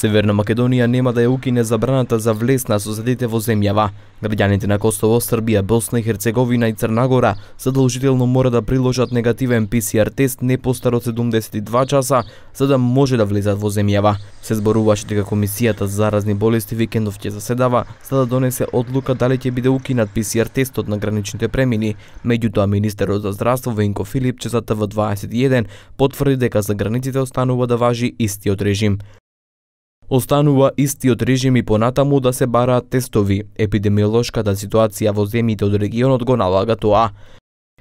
Северна Македонија нема да ја укине забраната за влез на соседите во земјава. Граѓаните на Косово, Србија, Босна и Херцеговина и Црна Гора задолжително мора да приложат негативен ПСР тест не постар од 72 часа за да може да влезат во земјава. Се зборуваше дека Комисијата за заразни болести викендов ќе заседава за да донесе одлука дали ќе биде укинат ПСР тестот на граничните премини. Меѓутоа министерот за здравство Венко Филипче за ТВ21 потврди дека за границите останува да важи истиот режим. Останува истиот режим и понатаму да се бараат тестови. Епидемиолошката ситуација во земјите од регионот го налага тоа.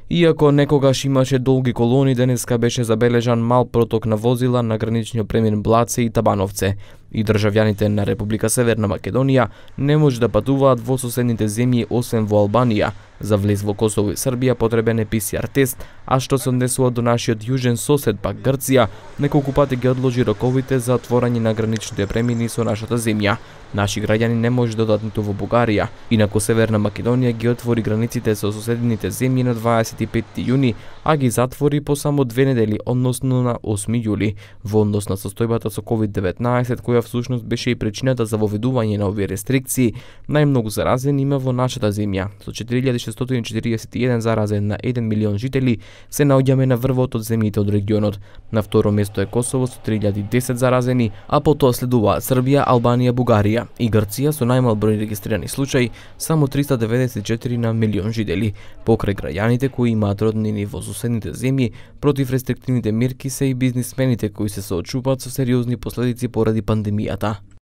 Иако некогаш имаше долги колони, денеска беше забележан мал проток на возила на граничниот премин Блаце и Табановце. И државјаните на Република Северна Македонија не може да патуваат во соседните земји освен во Албанија. За влез во Косово и Србија потребен е ПСР тест, а што се однесува до нашиот јужен сосед пак Грција, неколку пати ги одложи роковите за отворање на граничните премини со нашата земја. Наши граѓани не може да одат ниту во Бугарија. Инаку Северна Македонија ги отвори границите со соседните земји на 25 јуни, а ги затвори по само 2 недели, односно на 8 јули. Во однос на состојбата со COVID-19, која всушност беше и причината за воведување на овие рестрикции, најмногу заразени има во нашата земја. Со 4641 заразен на 1 милион жители се наоѓаме на врвот од земјите од регионот. На второ место е Косово со 3010 заразени, а потоа следуваат Србија, Албанија, Бугарија и Грција со најмал број регистрирани случаи, само 394 на милион жители. Покрај граѓаните кои имаат роднини во соседните земји, против рестриктивните мерки се и бизнисмените кои се соочуваат со сериозни последици поради пандемијата.